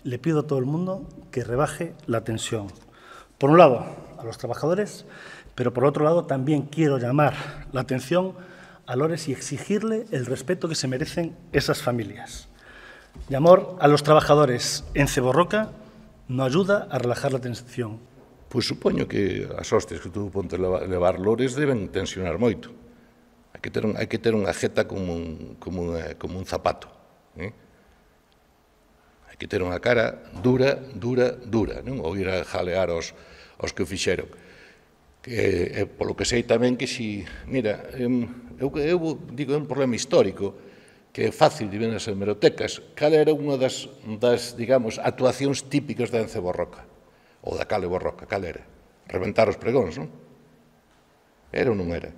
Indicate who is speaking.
Speaker 1: Le pido a todo el mundo que rebaje la tensión. Por un lado, a los trabajadores, pero por otro lado también quiero llamar la atención a Lores y exigirle el respeto que se merecen esas familias. Llamar a los trabajadores en Ceborroca no ayuda a relajar la tensión.
Speaker 2: Pois supoño que as hostias que tuvo ponte levar Lores deben tensionar moito. Hai que ter unha jeta como un zapato. Hai que ter unha cara dura, non? Ou ir a jalear os que o fixeron. Polo que sei tamén que si... Mira, eu digo, é un problema histórico que é fácil de ver nas hemerotecas. Cal era unha das, digamos, actuacións típicas da Enceborroca? Ou da Cale Borroca, cal era? Reventar os pregóns, non? Era ou non era?